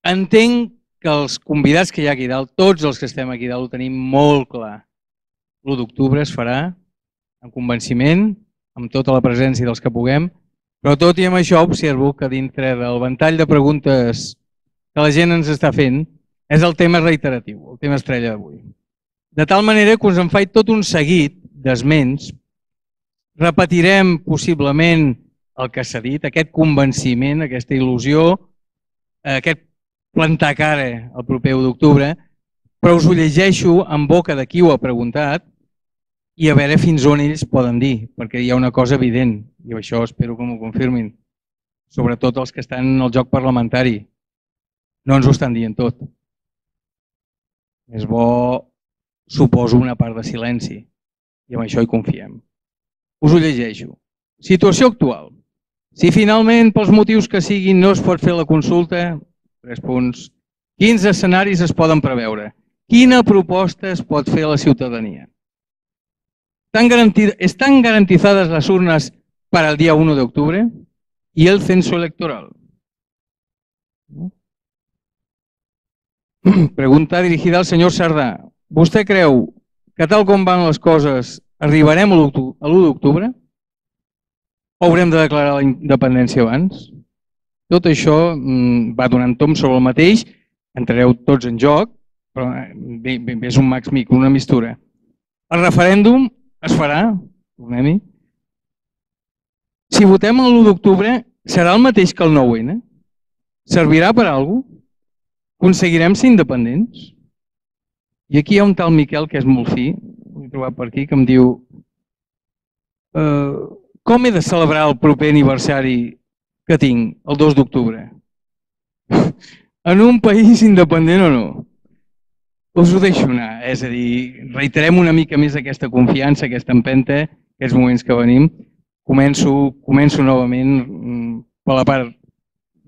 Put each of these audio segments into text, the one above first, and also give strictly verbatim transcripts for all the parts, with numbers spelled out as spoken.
entenc que els convidats que hi ha aquí dalt, tots els que estem aquí dalt, ho tenim molt clar. l'u d'octubre es farà amb convenciment, amb tota la presència dels que puguem, però tot i amb això observo que dintre del ventall de preguntes que la gent ens està fent és el tema reiteratiu, el tema estrella d'avui. De tal manera que us en faig tot un seguit d'esments, repetirem possiblement el que s'ha dit, aquest convenciment, aquesta il·lusió, aquest plantar cara el proper u d'octubre, però us ho llegeixo en boca de qui ho ha preguntat i a veure fins on ells poden dir, perquè hi ha una cosa evident, i això espero que m'ho confirmin, sobretot els que estan en el joc parlamentari. No ens ho estan dient tot. És bo, suposo, una part de silenci, i amb això hi confiem. Us ho llegeixo. Situació actual. Si finalment, pels motius que siguin, no es pot fer la consulta, tres punts. Quins escenaris es poden preveure? Quina proposta es pot fer a la ciutadania? ¿Están garantizadas las urnas para el día uno de octubre y el censo electoral? Pregunta dirigida al senyor Sardà. Vostè creu que tal com van les coses arribarem a l'u d'octubre? O haurem de declarar la independència abans? Tot això va donant tom sobre el mateix, entrareu tots en joc, però bé, bé, és un max mic, una mistura. El referèndum es farà, tornem-hi. Si votem l'u d'octubre, serà el mateix que el nou ene? Servirà per a alguna cosa? Aconseguirem ser independents? I aquí hi ha un tal Miquel que és molt fi, l'he trobat per aquí, que em diu com he de celebrar el proper aniversari que tinc, el dos d'octubre? En un país independent o no? Us ho deixo anar, és a dir, reiterem una mica més aquesta confiança, aquesta empenta, aquests moments que venim. Començo, començo novament per la part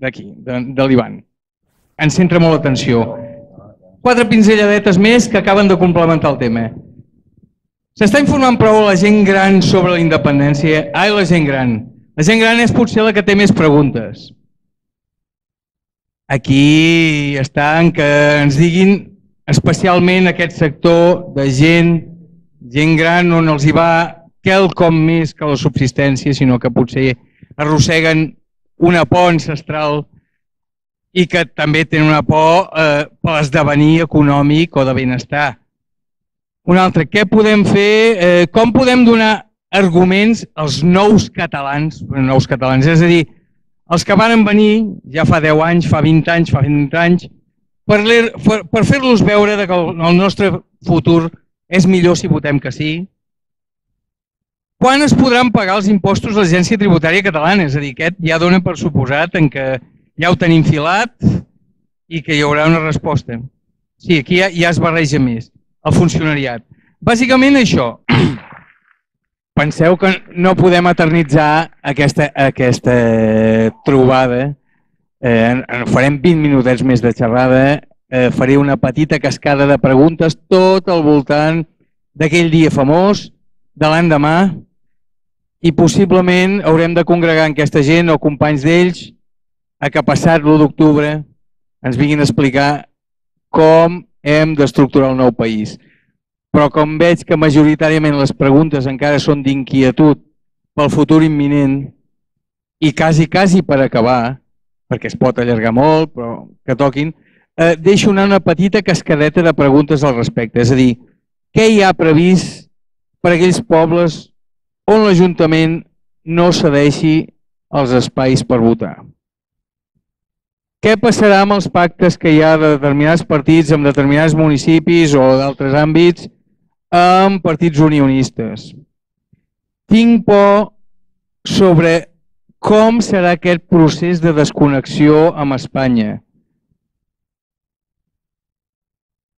d'aquí, de l'Ivan. Ens centra molt l'atenció. Quatre pinzelladetes més que acaben de complementar el tema. S'està informant prou a la gent gran sobre la independència? Ai, la gent gran. La gent gran és potser la que té més preguntes. Aquí està en que ens diguin especialment aquest sector de gent, gent gran on els hi va quelcom més que la subsistència, sinó que potser arrosseguen una por ancestral i que també tenen una por per l'esdevenir econòmic o de benestar. Un altre, què podem fer? Com podem donar arguments als nous catalans, nous catalans, és a dir, els que van venir ja fa deu anys, fa vint anys, fa vint anys, per fer-los veure que el nostre futur és millor si votem que sí? Quan es podran pagar els impostos a l'Agència Tributària Catalana? És a dir, aquest ja dona per suposat en que ja ho tenim filat i que hi haurà una resposta. Sí, aquí ja es barreja més, el funcionariat. Bàsicament això. Penseu que no podem eternitzar aquesta trobada. Farem vint minutets més de xerrada, faré una petita cascada de preguntes tot al voltant d'aquell dia famós, de l'endemà, i possiblement haurem de congregar aquesta gent o companys d'ells a que passat l'u d'octubre ens vinguin a explicar com hem d'estructurar el nou país. Però com veig que majoritàriament les preguntes encara són d'inquietud pel futur imminent i quasi, quasi per acabar, perquè es pot allargar molt, però que toquin, deixo anar una petita cascadeta de preguntes al respecte. És a dir, què hi ha previst per a aquells pobles on l'Ajuntament no cedeixi els espais per votar? Què passarà amb els pactes que hi ha de determinats partits amb determinats municipis o d'altres àmbits amb partits unionistes? Tinc por sobre com serà aquest procés de desconnexió amb Espanya.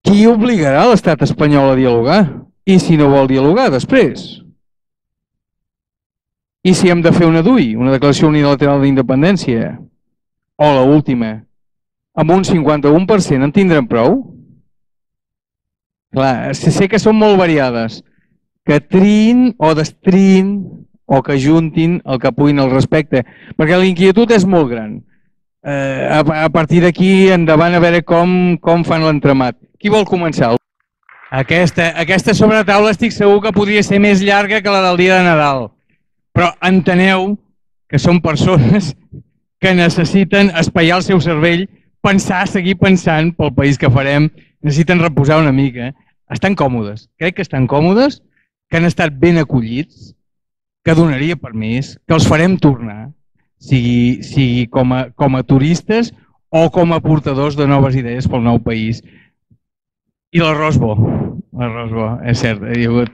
Qui obligarà l'estat espanyol a dialogar? I si no vol dialogar després? I si hem de fer una D U I, una declaració unilateral d'independència? O l'última, amb un cinquanta-u per cent en tindrem prou? Clar, sé que són molt variades, que triïn o destriïn o que juntin el que puguin al respecte, perquè la inquietud és molt gran. eh, a, a partir d'aquí endavant a veure com, com fan l'entremat. Qui vol començar? Aquesta, aquesta sobretaula estic segur que podria ser més llarga que la del dia de Nadal, però enteneu que són persones que necessiten espaiar el seu cervell, pensar, seguir pensant pel país que farem, necessiten reposar una mica. Estan còmodes, crec que estan còmodes, que han estat ben acollits, que donaria permís, que els farem tornar, sigui, sigui com, a, com a turistes o com a portadors de noves idees pel nou país. I l'arròs bo, l'arròs bo, és cert, hi ha hagut.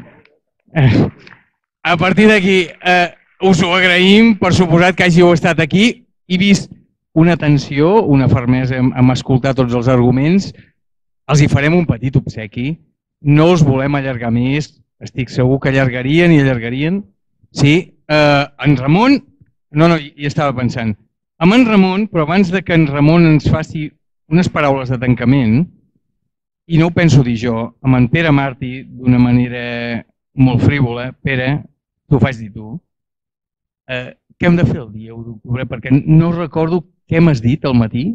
A partir d'aquí, eh, us ho agraïm, per suposat que hàgiu estat aquí, he vist una atenció, una fermesa en escoltar tots els arguments, els hi farem un petit obsequi, no us volem allargar més, estic segur que allargarien i allargarien. Sí, eh, en Ramon, no, no, hi estava pensant, amb en Ramon, però abans de que en Ramon ens faci unes paraules de tancament, i no ho penso dir jo, amb en Pere Martí, d'una manera molt frívola, Pere, t'ho faig dir tu, eh, què hem de fer el dia u d'octubre? Perquè no recordo què m'has dit al matí,